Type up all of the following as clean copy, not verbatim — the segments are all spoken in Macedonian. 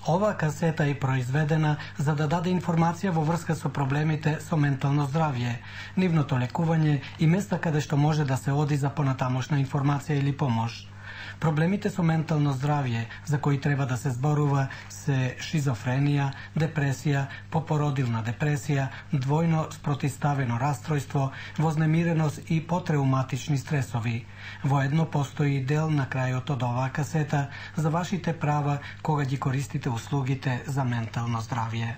Оваа касета е произведена за да даде информација во врска со проблемите со ментално здравје, нивното лекување и места каде што може да се оди за понатамошна информација или помош. Проблемите со ментално здравје за кои треба да се зборува се шизофренија, депресија, попородилна депресија, двојно спротиставено растројство, вознемиреност и потреуматични стресови. Воедно постои дел на крајот од оваа касета за вашите права кога ги користите услугите за ментално здравје.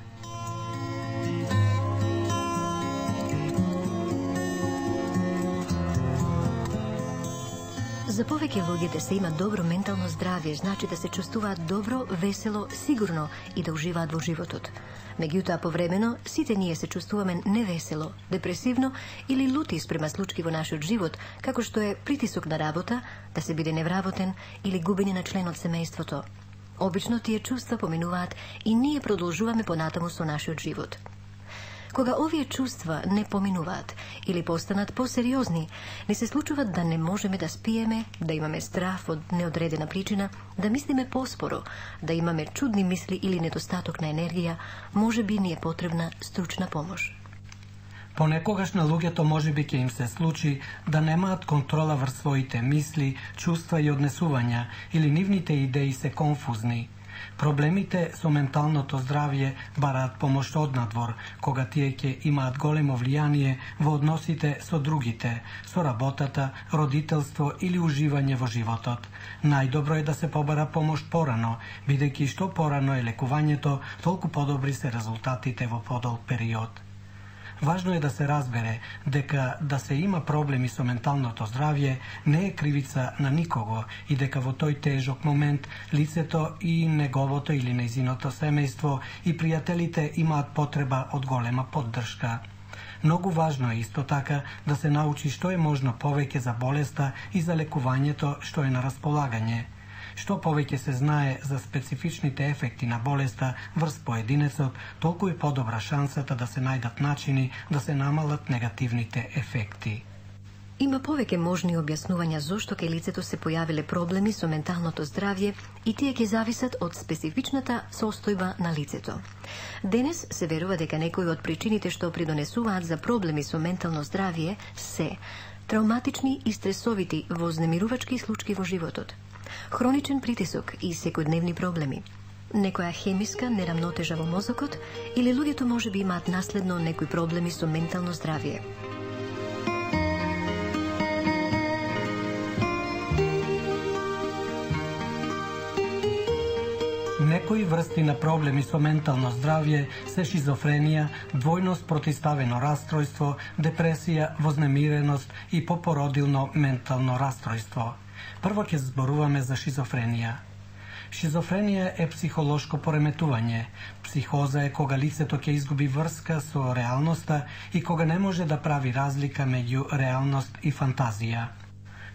За повеќе луѓе да се има добро ментално здравје, значи да се чувствуваат добро, весело, сигурно и да уживаат во животот. Меѓутоа, повремено, сите ние се чувствуваме невесело, депресивно или лути спрема случаи во нашиот живот, како што е притисок на работа, да се биде невработен или губење на член од семејството. Обично тие чувства поминуваат и ние продолжуваме понатаму со нашиот живот. Кога овие чувства не поминуваат или постанат посериозни, не се случува да не можеме да спиеме, да имаме страф од неодредена причина, да мислиме поспоро, да имаме чудни мисли или недостаток на енергија, можеби ни е потребна стручна помош. Понекогаш на луѓето можеби ќе им се случи да немаат контрола врз своите мисли, чувства и однесувања или нивните идеи се конфузни. Проблемите со менталното здравје бараат помош од надвор, кога тие ќе имаат големо влијание во односите со другите, со работата, родителство или уживање во животот. Најдобро е да се побара помош порано, бидејќи што порано е лекувањето, толку подобри се резултатите во подолг период. Важно е да се разбере дека да се има проблеми со менталното здравје не е кривица на никого и дека во тој тежок момент лицето и неговото или нејзиното семејство и пријателите имаат потреба од голема поддршка. Многу важно е исто така да се научи што е можно повеќе за болеста и за лекувањето што е на располагање. Што повеќе се знае за специфичните ефекти на болеста врз поединецот, толку е подобра шансата да се најдат начини да се намалат негативните ефекти. Има повеќе можни објаснувања зошто кај лицето се појавиле проблеми со менталното здравје и тие ќе зависат од специфичната состојба на лицето. Денес се верува дека некои од причините што придонесуваат за проблеми со ментално здравје се травматични и стресовити вознемирувачки случаи во животот, хроничен притисок и секојдневни проблеми, некоја хемиска нерамнотежа во мозокот или луѓето можеби имаат наследно некои проблеми со ментално здравје. Некои врсти на проблеми со ментално здравје се шизофренија, двојно спротиставено растројство, депресија, вознемиреност и попородилно ментално растројство. Прво ќе зборуваме за шизофренија. Шизофренија е психолошко пореметување. Психоза е кога лицето ќе изгуби врска со реалноста и кога не може да прави разлика меѓу реалност и фантазија.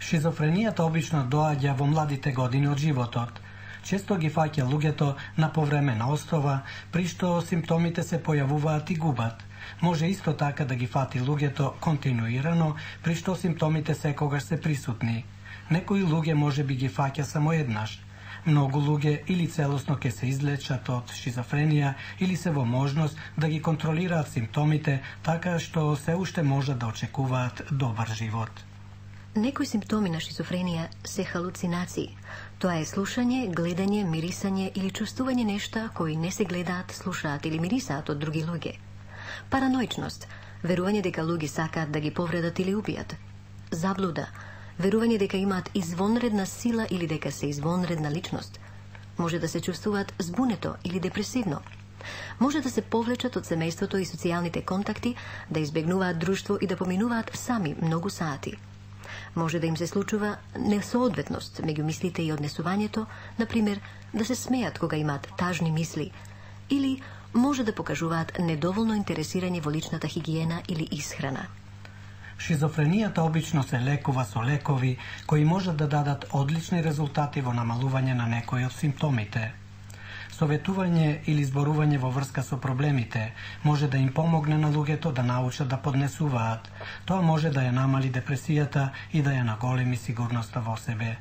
Шизофренијата обично доаѓа во младите години од животот. Често ги фаќа луѓето на повремена основа, при што симптомите се појавуваат и губат. Може исто така да ги фати луѓето континуирано, при што симптомите секогаш се присутни. Некои луѓе може би ги фаќа само еднаш. Многу луѓе или целосно ќе се излечат од шизофренија или се во можност да ги контролираат симптомите, така што се уште може да очекуваат добар живот. Некои симптоми на шизофренија се халуцинации. Тоа е слушање, гледање, мирисање или чувствување нешта кои не се гледаат, слушаат или мирисаат од други луѓе. Параноичност, верување дека луѓе сакаат да ги повредат или убијат. Заблуда, верување дека имаат извонредна сила или дека се извонредна личност. Може да се чувствуваат збунето или депресивно. Може да се повлечат од семејството и социјалните контакти, да избегнуваат друштво и да поминуваат сами многу сати. Може да им се случува несоодветност меѓу мислите и однесувањето, например, да се смеат кога имаат тажни мисли, или може да покажуваат недоволно интересирање во личната хигиена или исхрана. Шизофренијата обично се лекува со лекови кои можат да дадат одлични резултати во намалување на некои од симптомите. Советување или зборување во врска со проблемите може да им помогне на луѓето да научат да поднесуваат. Тоа може да ја намали депресијата и да ја наголеми сигурноста во себе.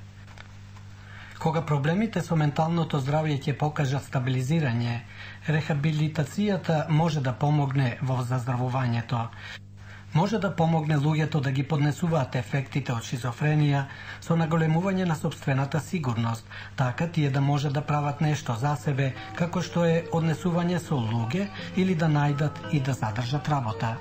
Кога проблемите со менталното здравје ќе покажат стабилизирање, рехабилитацијата може да помогне во заздравувањето. Може да помогне луѓето да ги поднесуваат ефектите од шизофренија со наголемување на сопствената сигурност, така тие да може да прават нешто за себе, како што е однесување со луѓе или да најдат и да задржат работа.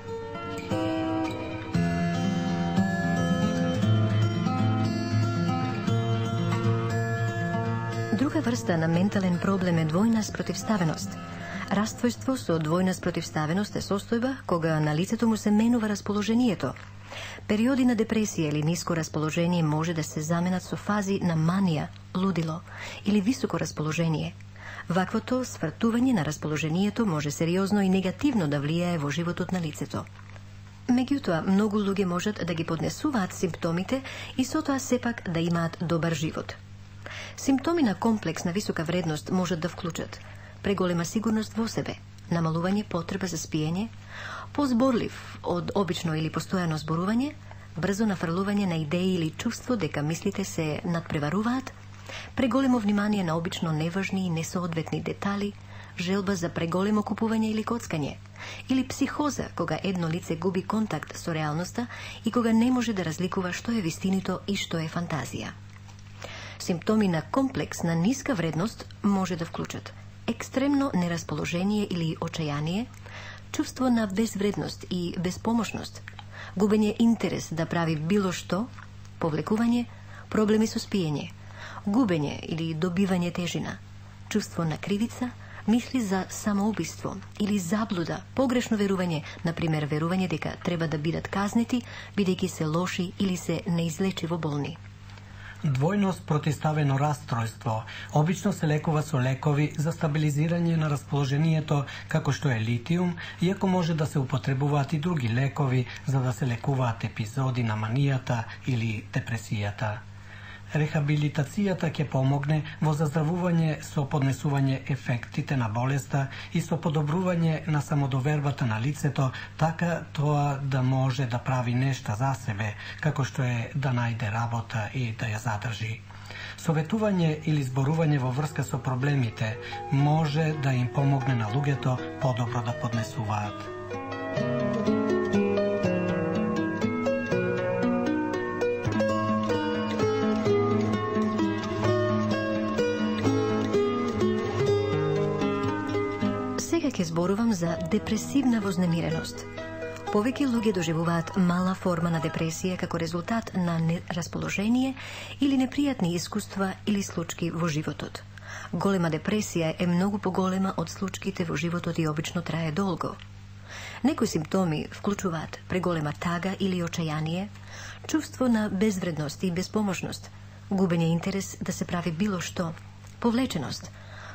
Друга врста на ментален проблем е двојна спротивставеност. Раствојство со двојна спротивставеност е состојба кога на лицето му се менува расположението. Периоди на депресија или ниско расположение може да се заменат со фази на манија, лудило или високо расположение. Ваквото свртување на расположението може сериозно и негативно да влијае во животот на лицето. Меѓутоа, многу луѓе можат да ги поднесуваат симптомите и со тоа сепак да имаат добар живот. Симптоми на комплекс на висока вредност можат да вклучат преголема сигурност во себе, намалување потреба за спиење, позборлив од обично или постојано зборување, брзо нафрлување на идеи или чувство дека мислите се надпреваруваат, преголемо внимание на обично неважни и несоодветни детали, желба за преголемо купување или коцкање, или психоза кога едно лице губи контакт со реалноста и кога не може да разликува што е вистинито и што е фантазија. Симптоми на комплекс на ниска вредност може да вклучат екстремно нерасположение или очајание, чувство на безвредност и безпомошност, губење интерес да прави било што, повлекување, проблеми со спиење, губење или добивање тежина, чувство на кривица, мисли за самоубиство или заблуда, погрешно верување, например верување дека треба да бидат казнети, бидејќи се лоши или се неизлечиво болни. Двојно спротивставено расстройство обично се лекува со лекови за стабилизирање на расположението, како што е литиум, иако може да се употребуваат и други лекови за да се лекуваат епизоди на манијата или депресијата. Рехабилитацијата ќе помогне во заздравување со поднесување ефектите на болеста и со подобрување на самодовербата на лицето, така тоа да може да прави нешта за себе, како што е да најде работа и да ја задржи. Советување или зборување во врска со проблемите може да им помогне на луѓето подобро да поднесуваат. Ќе зборувам за депресивна вознемиреност. Повеќе луѓе доживуваат мала форма на депресија како резултат на нерасположение или непријатни искуства или случаи во животот. Голема депресија е многу поголема од случаите во животот и обично трае долго. Некои симптоми вклучуваат преголема тага или очајание, чувство на безвредност и безпомошност, губење интерес да се прави било што, повлеченост,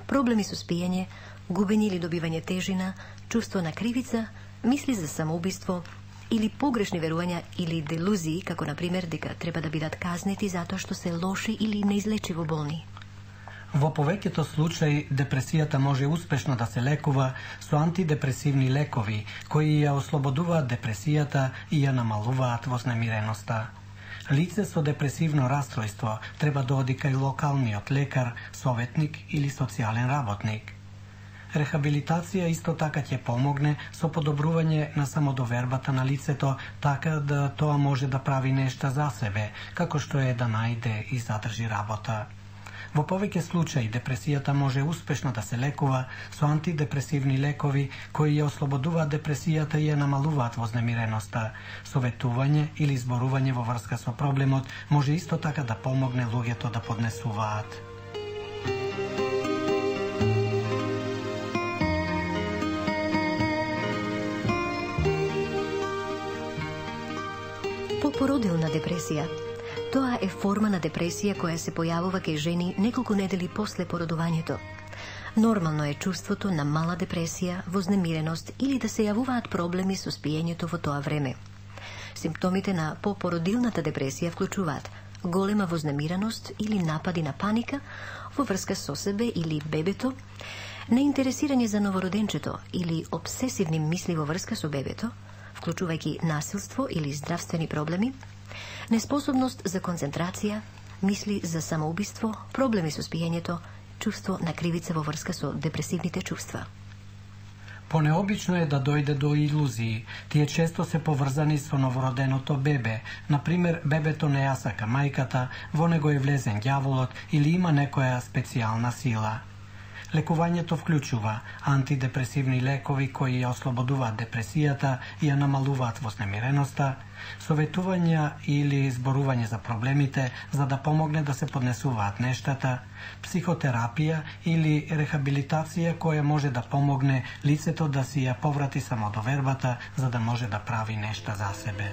проблеми со спиење, губење или добивање тежина, чувство на кривица, мисли за самоубиство или погрешни верувања или делузии, како например дека треба да бидат казнети затоа што се лоши или неизлечиво болни. Во повеќето случаи депресијата може успешно да се лекува со антидепресивни лекови кои ја ослободуваат депресијата и ја намалуваат вознемиреноста. Лице со депресивно расстройство треба да оди кај локалниот лекар, советник или социјален работник. Рехабилитација исто така ќе помогне со подобрување на самодовербата на лицето, така да тоа може да прави нешта за себе, како што е да најде и задржи работа. Во повеќе случаи депресијата може успешно да се лекува со антидепресивни лекови кои ја ослободуваат депресијата и ја намалуваат вознемиреноста. Советување или зборување во врска со проблемот може исто така да помогне луѓето да поднесуваат. Попородилна депресија. Тоа е форма на депресија која се појавува кај жени неколку недели после породувањето. Нормално е чувството на мала депресија, вознемиреност или да се јавуваат проблеми со спиењето во тоа време. Симптомите на попородилната депресија вклучуваат голема вознемиреност или напади на паника во врска со себе или бебето, неинтересирање за новороденчето или обсесивни мисли во врска со бебето, вклучувајќи насилство или здравствени проблеми, неспособност за концентрација, мисли за самоубиство, проблеми со спиењето, чувство на кривица во врска со депресивните чувства. Понеобично е да дојде до илузии. Тие често се поврзани со новороденото бебе. Например, бебето не ја сака мајката, во него е влезен ѓаволот или има некоја специјална сила. Лекувањето вклучува антидепресивни лекови кои ја ослободуваат депресијата и ја намалуваат вознемиреноста, советувања или зборување за проблемите за да помогне да се поднесуваат нештата, психотерапија или рехабилитација која може да помогне лицето да си ја поврати самодовербата за да може да прави нешта за себе.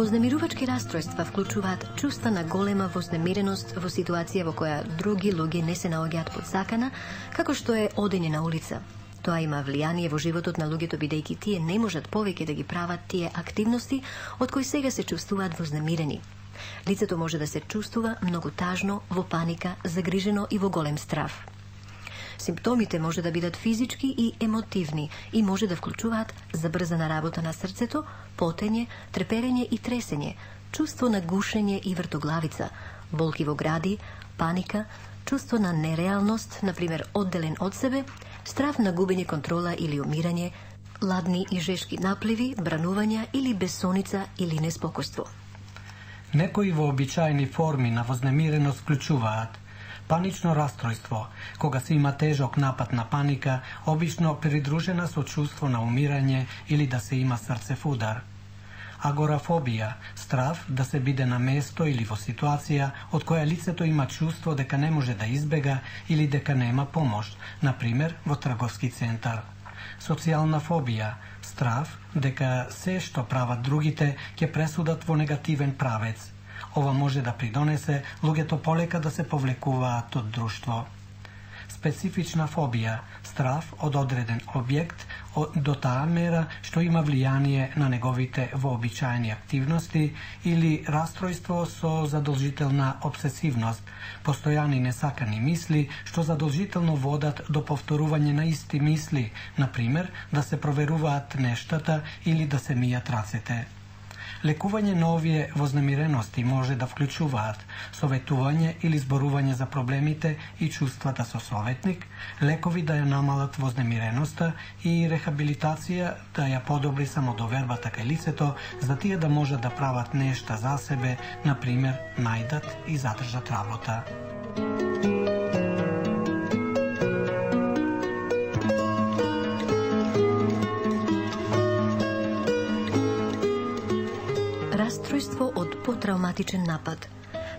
Вознемирувачки растројства вклучуваат чувства на голема вознемиреност во ситуација во која други луѓе не се наоѓаат подсакана, како што е одење на улица. Тоа има влијание во животот на луѓето бидејќи тие не можат повеќе да ги прават тие активности од кои сега се чувствуваат вознемирени. Лицето може да се чувствува многу тажно, во паника, загрижено и во голем страв. Симптомите може да бидат физички и емотивни и може да вклучуваат забрзана работа на срцето, потење, треперење и тресење, чувство на гушење и вртоглавица, болки во гради, паника, чувство на нереалност, например одделен од себе, страв на губење контрола или умирање, ладни и жешки напливи, бранувања или бесоница или неспокојство. Некои вообичаени форми на вознемиреност вклучуваат панично растројство, кога се има тежок напад на паника, обично придружена со чувство на умирање или да се има срцев удар. Агорафобија, страв да се биде на место или во ситуација од која лицето има чувство дека не може да избега или дека нема помош, например во трговски центар. Социјална фобија, страв дека се што прават другите ќе пресудат во негативен правец. Ова може да придонесе луѓето полека да се повлекуваат од друштво. Специфична фобија, страв од одреден објект до таа мера што има влијание на неговите вообичаени активности или растројство со задолжителна обсесивност, постојани несакани мисли што задолжително водат до повторување на исти мисли, например да се проверуваат нештата или да се мијат рацете. Лекување на овие вознемирености може да вклучуваат советување или зборување за проблемите и чувствата со советник, лекови да ја намалат вознемиреноста и рехабилитација да ја подобри самодовербата кај лицето за тие да можат да прават нешта за себе, например, најдат и задржат работа. Растројство од потрауматичен напад.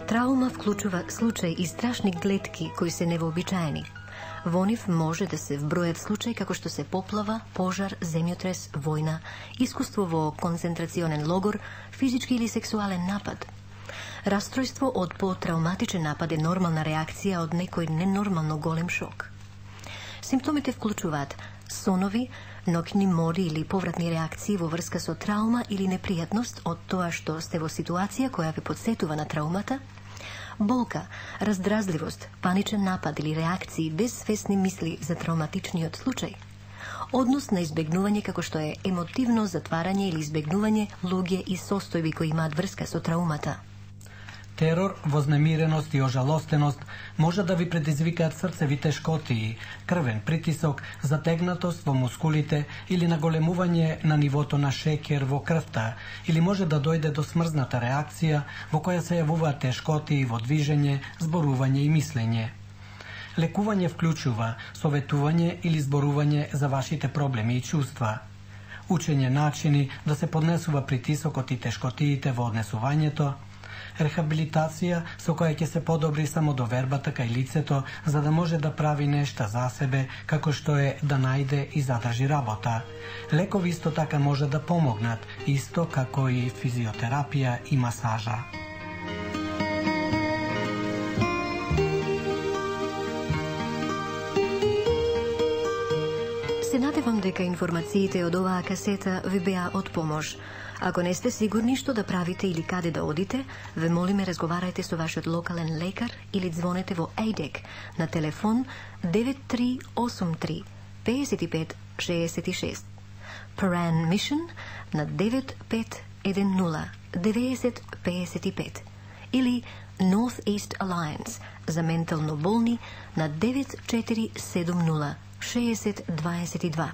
Траума вклучува случаи и страшни гледки кои се невообичаени. Во нив може да се вбројат случаи како што се поплава, пожар, земјотрес, војна, искуство во концентрационен логор, физички или сексуален напад. Растројство од потрауматичен напад е нормална реакција од некој ненормално голем шок. Симптомите вклучуваат сонови, ноќни мори или повратни реакции во врска со траума или непријатност од тоа што сте во ситуација која ве подсетува на траумата, болка, раздразливост, паничен напад или реакции без свесни мисли за трауматичниот случај, однос на избегнување како што е емотивно затварање или избегнување луѓе и состојби кои имаат врска со траумата. Терор, вознемиреност и ожалостеност може да ви предизвикаат срцеви тешкотии, крвен притисок, затегнатост во мускулите или наголемување на нивото на шеќер во крвта, или може да дојде до смрзната реакција во која се јавуваат тешкотии во движење, зборување и мислење. Лекување вклучува советување или зборување за вашите проблеми и чувства, учење начини да се поднесува притисокот и тешкотиите во однесувањето, рехабилитација со која ќе се подобри самодовербата кај лицето за да може да прави нешта за себе, како што е да најде и задржи работа. Лекови исто така може да помогнат, исто како и физиотерапија и масажа. Се надевам дека информациите од оваа касета ви беа од помош. Ако не сте сигурни што да правите или каде да одите, ве молиме разговарајте со вашиот локален лекар или звонете во AIDEC на телефон 9383 55 66. Paran Mission на 9510 9055 или Northeast Alliance за ментално болни на 9470 6022.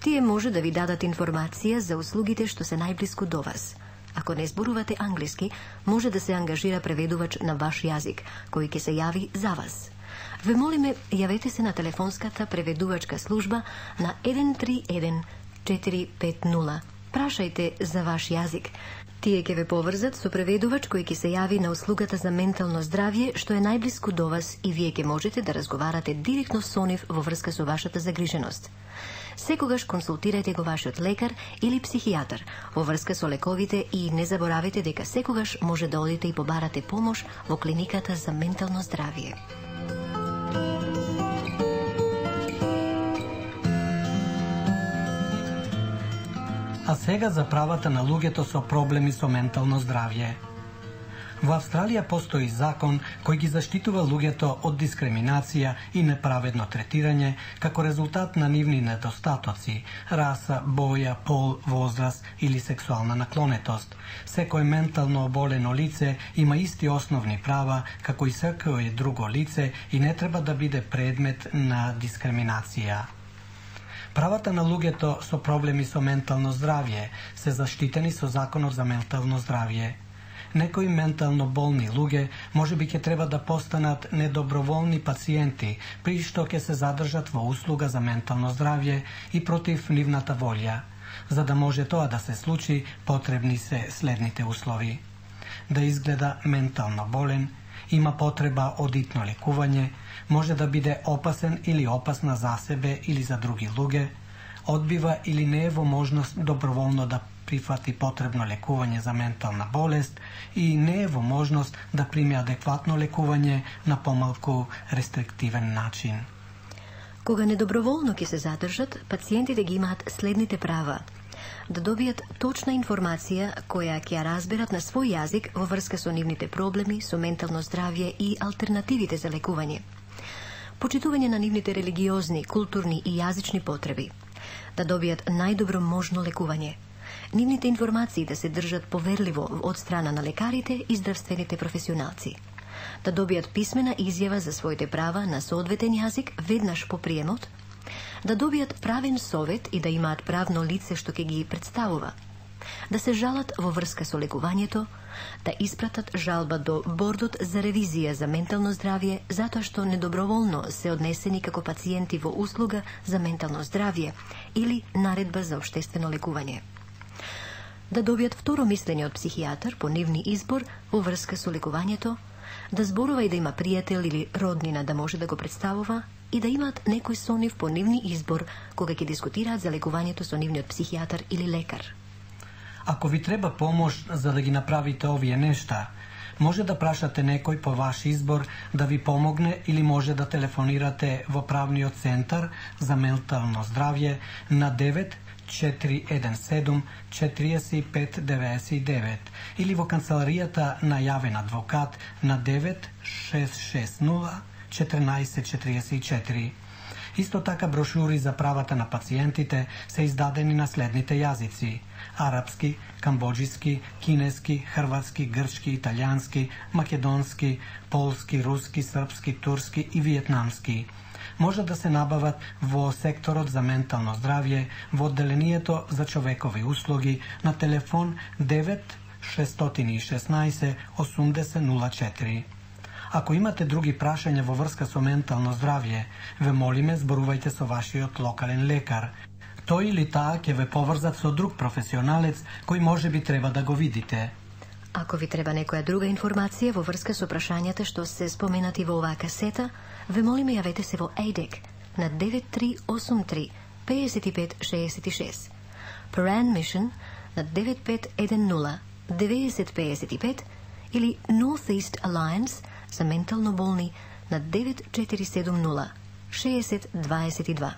Тие може да ви дадат информација за услугите што се најблиску до вас. Ако не зборувате англиски, може да се ангажира преведувач на ваш јазик, кој ќе се јави за вас. Ве молиме, јавете се на телефонската преведувачка служба на 131 450. Прашајте за ваш јазик. Тие ќе ве поврзат со преведувач кој ќе се јави на услугата за ментално здравје што е најблиску до вас и вие ќе можете да разговарате директно со нив во врска со вашата загриженост. Секогаш консултирајте го вашиот лекар или психијатар во врска со лековите и не заборавете дека секогаш може да одите и побарате помош во клиниката за ментално здравје. А сега за правата на луѓето со проблеми со ментално здравје. Во Австралија постои закон кој ги заштитува луѓето од дискриминација и неправедно третирање како резултат на нивни недостатоци, раса, боја, пол, возраст или сексуална наклонетост. Секој ментално оболено лице има исти основни права како и секој друго лице и не треба да биде предмет на дискриминација. Правата на луѓето со проблеми со ментално здравје се заштитени со Законот за ментално здравје. Некои ментално болни луѓе можеби ќе треба да постанат недоброволни пациенти, при што ќе се задржат во услуга за ментално здравје и против нивната волја. За да може тоа да се случи, потребни се следните услови. Да изгледа ментално болен, има потреба од итно лекување, може да биде опасен или опасна за себе или за други луѓе, одбива или не е во можност доброволно да прифати потребно лекување за ментална болест и не е во можност да прими адекватно лекување на помалку рестриктивен начин. Кога недоброволно ќе се задржат, пациентите ги имаат следните права: да добијат точна информација која ќе ја разберат на свој јазик во врска со нивните проблеми со ментално здравје и алтернативите за лекување, почитување на нивните религиозни, културни и јазични потреби, да добијат најдобро можно лекување, нивните информации да се држат поверливо од страна на лекарите и здравствените професионалци, да добијат писмена изјава за своите права на соодветен јазик веднаш по приемот, да добијат правен совет и да имаат правно лице што ќе ги представува, да се жалат во врска со лекувањето, да испратат жалба до бордот за ревизија за ментално здравје затоа што недоброволно се однесени како пациенти во услуга за ментално здравје или наредба за општествено лекување, да добијат второ мислење од психијатар по нивни избор во врска со лекувањето, да зборува и да има пријател или роднина да може да го представува и да имаат некој со нив по нивни избор кога ќе дискутираат за лекувањето со нивниот психијатар или лекар. Ако ви треба помош за да ги направите овие нешта, може да прашате некој по ваш избор да ви помогне или може да телефонирате во правниот центар за ментално здравје на 9417 4599 или во канцеларијата на јавен адвокат на 9660 1444. Исто така брошури за правата на пациентите се издадени на следните јазици: арапски, камбоџиски, кинески, хрватски, грчки, италијански, македонски, полски, руски, српски, турски и виетнамски. Може да се набават во секторот за ментално здравје во одделението за човекови услуги на телефон 9 616 8004. Ако имате други прашања во врска со ментално здравје, ве молиме зборувајте со вашиот локален лекар. Тој или таа ќе ве поврзат со друг професионалец кој може би треба да го видите. Ако ви треба некоја друга информација во врска со прашањата што се споменати во оваа касета, ве молиме јавете се во AIDEC на 9383 5566, Paran Mission на 9510 9055 или Northeast Alliance за ментално болни на 9470 6022.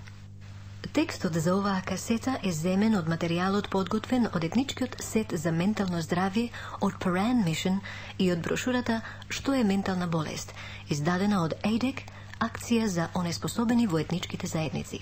Текстот за оваа касета е земен од материјалот подготвен од етничкиот сет за ментално здравје од Paran Mission и од брошурата Што е ментална болест, издадена од AIDEC, акција за онеспособени во етничките заедници.